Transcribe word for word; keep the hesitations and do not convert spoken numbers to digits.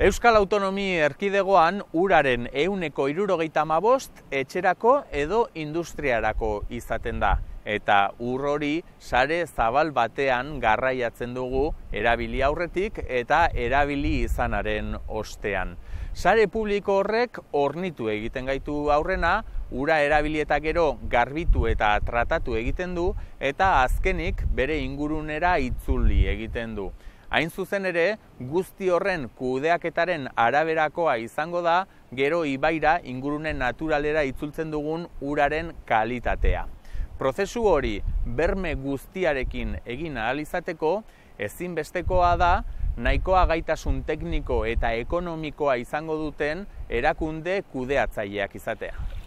Euskal Autonomi Erkidegoan uraren ehuneko hirurogeita hamabost etxerako edo industriarako izaten da. Eta ur hori sare zabal batean garraiatzen dugu erabili aurretik eta erabili izanaren ostean. Sare publiko horrek hornitu egiten gaitu aurrena, ura erabili eta gero garbitu eta tratatu egiten du eta azkenik bere ingurunera itzuli egiten du. Hain zuzen ere, guzti horren kudeaketaren araberakoa izango da, gero ibaira ingurune naturalera itzultzen dugun uraren kalitatea. Prozesu hori berme guztiarekin egin ahal izateko, ezinbestekoa da, nahikoa gaitasun tekniko eta ekonomikoa izango duten erakunde kudeatzaileak izatea.